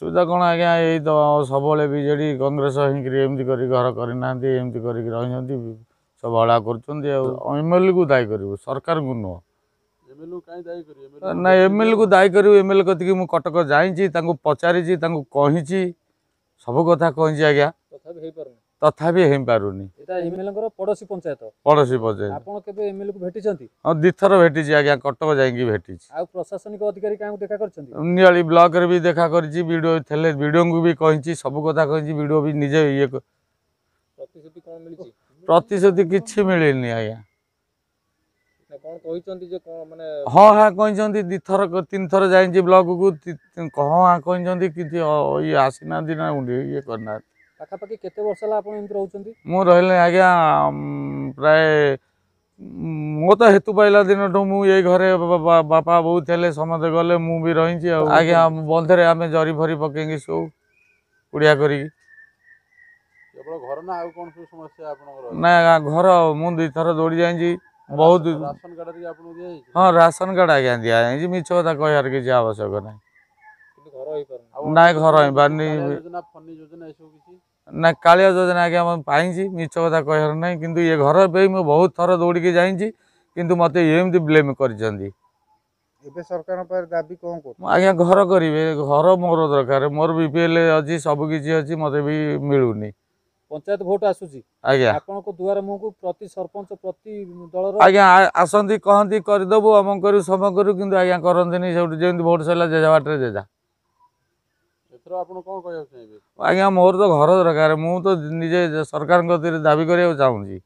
ଅସୁବିଧା କ'ଣ ଆଜ୍ଞା, ଏଇ ତ ସବୁବେଳେ ବିଜେଡ଼ି କଂଗ୍ରେସ ହେଇକିରି ଏମିତି କରି ଘର କରିନାହାନ୍ତି, ଏମିତି କରିକି ରହିଛନ୍ତି, ସବୁ ହଳା କରୁଛନ୍ତି। ଆଉ ଏମ୍ଏଲ୍ଏକୁ ଦାୟୀ କରିବୁ, ସରକାରଙ୍କୁ ନୁହଁ। ନା, ଏମ୍ଏଲ୍ଏକୁ ଦାୟୀ କରିବୁ। ଏମ୍ଏଲ୍ଏ କତିକି ମୁଁ କଟକ ଯାଇଛି, ତାଙ୍କୁ ପଚାରିଛି, ତାଙ୍କୁ କହିଛି, ସବୁ କଥା କହିଛି ଆଜ୍ଞା, ତଥାପି ହେଇପାରୁନି। ଏମ୍ଏଲ୍ଏଙ୍କର ପଡ଼ୋଶୀ ପଞ୍ଚାୟତ। ପଡ଼ୋଶୀ ପଞ୍ଚାୟତ। ଆପଣ କେବେ ଏମ୍ଏଲ୍ଏକୁ ଭେଟିଛନ୍ତି? ହଁ, 2ଥର ଭେଟିଛି ଆଜ୍ଞା, କଟକ ଯାଇକି ଭେଟିଛି। ଆଉ ପ୍ରଶାସନିକ ଅଧିକାରୀ କାହାକୁ ଦେଖା କରିଛନ୍ତି? ନିଆଳି ବ୍ଲକରେ ବି ଦେଖା କରିଛି, ବିଡ଼ିଓ ଥିଲେ, ବିଡ଼ିଓଙ୍କୁ ବି କହିଛି, ସବୁ କଥା କହିଛି, ବିଡ଼ିଓ ବି ନିଜେ ଇଏ। ପ୍ରତିଶ୍ରୁତି କ'ଣ ମିଳିଛି? ପ୍ରତିଶ୍ରୁତି କିଛି ମିଳିନି ଆଜ୍ଞା। କ'ଣ କହିଛନ୍ତି ଯେ କ'ଣ ମାନେ? ହଁ ହଁ କହିଛନ୍ତି, 2ଥର 3ଥର ଯାଇଛି ବ୍ଲକକୁ, ହଁ ହଁ କହିଛନ୍ତି, କିନ୍ତୁ ଇଏ ଆସିନାହାନ୍ତି ନା ଇଏ କରିନାହାନ୍ତି। ପାଖାପାଖି କେତେ ବର୍ଷ ହେଲା ଆପଣ ଏମିତି ରହୁଛନ୍ତି? ମୁଁ ରହିଲି ଆଜ୍ଞା ପ୍ରାୟ, ମୋ ତ ହେତୁ ପାଇଲା ଦିନଠୁ ମୁଁ ଏଇ ଘରେ। ବାପା ବୋଉ ଥିଲେ, ସମସ୍ତେ ଗଲେ, ମୁଁ ବି ରହିଛି। ଆଉ ଆଜ୍ଞା ବନ୍ଧରେ ଆମେ ଜରି ଫରି ପକେଇକି ଶୋଉ କୁଡ଼ିଆ କରିକି। କେବଳ ଘର ନା ଆଉ କ'ଣ ସବୁ ସମସ୍ୟା ଆପଣଙ୍କର? ନା, ଘର ମୁଁ 2ଥର ଦୌଡ଼ି ଯାଇଛି ବହୁତ। ରାସନ କାର୍ଡ଼ ଆପଣଙ୍କୁ ଦିଆଯାଇଛି? ହଁ, ରାସନ କାର୍ଡ଼ ଆଜ୍ଞା ଦିଆଯାଇଛି, ମିଛ କଥା କହିବାର କିଛି ଆବଶ୍ୟକ ନାହିଁ। ନାଇଁ, ଘର ହେଇପାରୁନି। ନା, କାଳିଆ ଯୋଜନା ଆଜ୍ଞା ମୁଁ ପାଇଛି, ମିଛ କଥା କହିବାର ନାହିଁ। କିନ୍ତୁ ଏ ଘର ପାଇଁ ମୁଁ ବହୁତ ଥର ଦୌଡ଼ିକି ଯାଇଛି, କିନ୍ତୁ ମୋତେ ଏମିତି ବ୍ଲେମ୍ କରିଛନ୍ତି। ଏବେ ସରକାରଙ୍କ ପାଖରେ ଦାବି କ'ଣ କରୁ? ଆଜ୍ଞା ଘର କରିବେ, ଘର ମୋର ଦରକାର। ମୋର ବି ପି ଏଲ୍ ଅଛି, ସବୁ କିଛି ଅଛି, ମୋତେ ବି ମିଳୁନି। ପଞ୍ଚାୟତ ଭୋଟ ଆସୁଛି ଆଜ୍ଞା, ଆପଣଙ୍କ ଦୁଆର ମୁହଁକୁ ପ୍ରତି ସରପଞ୍ଚ ପ୍ରତି ଦଳର ଆଜ୍ଞା ଆସନ୍ତି, କହନ୍ତି କରିଦେବୁ, ଅମକ କରିବୁ, ସମ କରିବୁ, କିନ୍ତୁ ଆଜ୍ଞା କରନ୍ତିନି। ସେଇଠୁ ଯେମିତି ଭୋଟ ସରିଲା, ଜେଜା ବାଟରେ ଜେଜା। ଏଥର ଆପଣ କ'ଣ କହିବାକୁ ଚାହିଁବେ? ଆଜ୍ଞା ମୋର ତ ଘର ଦରକାର, ମୁଁ ତ ନିଜେ ସରକାରଙ୍କ କତିରେ ଦାବି କରିବାକୁ ଚାହୁଁଛି।